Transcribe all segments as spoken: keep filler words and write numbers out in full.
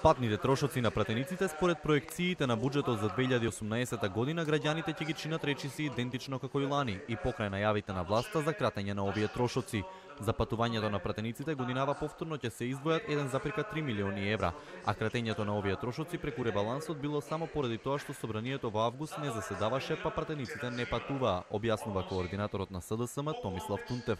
Патните трошоци на пратениците според проекциите на буџетот за две илјади и осумнаесета година граѓаните ќе ги чинат речиси идентично како и лани и покрај најавите на власта за кратење на овие трошоци. За патувањето на пратениците годинава повторно ќе се издвојат еден зарез три милиони евра, а кратењето на овие трошоци преку ребалансот било само поради тоа што собранието во август не заседаваше, па пратениците не патуваа, објаснува координаторот на С Д С М Томислав Тунтев.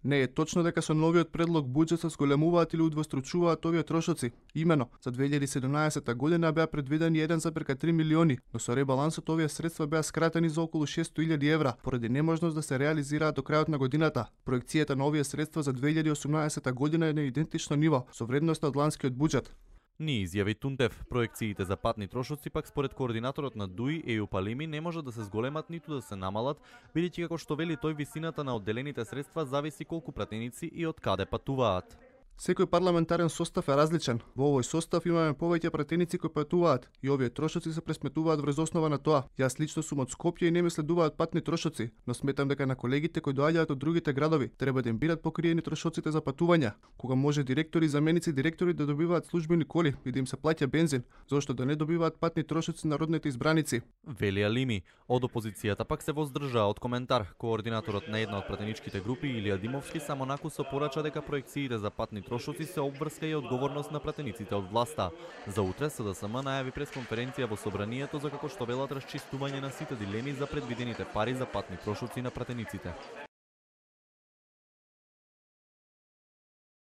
Не е точно дека со новиот предлог буџет се зголемуваат или удвостручуваат овие трошоци. Имено, за две илјади и седумнаесета година беа предвидени еден зарез три милиони, но со ребалансот овие средства беа скратени за околу шестстотини илјади евра, поради неможност да се реализираат до крајот на годината. Проекцијата на овие средства за две илјади и осумнаесета година е на идентично ниво со вредноста од ланскиот буџет. Ни изјави Тунтев, проекциите за патни трошоци пак според координаторот на Д У И Ејуп Алими не може да се зголемат ниту да се намалат, бидејќи како што вели тој висината на одделените средства зависи колку пратеници и од каде патуваат. Секој парламентарен состав е различен. Во овој состав имаме повеќе пратеници кои патуваат и овие трошоци се пресметуваат врз основа на тоа. Јас лично сум од Скопје и не ми следуваат патни трошоци, но сметам дека на колегите кои доаѓаат од другите градови треба да им бидат покриени трошоците за патување, кога може директори и заменици директори да добиваат службени коли и да им се плаќа бензин, зошто да не добиваат патни трошоци народните избраници. Вели Алими. Од опозицијата пак се воздржаа од коментар. Координаторот на една од пратеничките групи Илија Димовски само накусо порача дека проекциите за патни трошоци се обврска и одговорност на пратениците од власта. За утре С Д С М најави пресконференција во собранието за како што велат расчистување на сите дилеми за предвидените пари за патни трошоци на пратениците.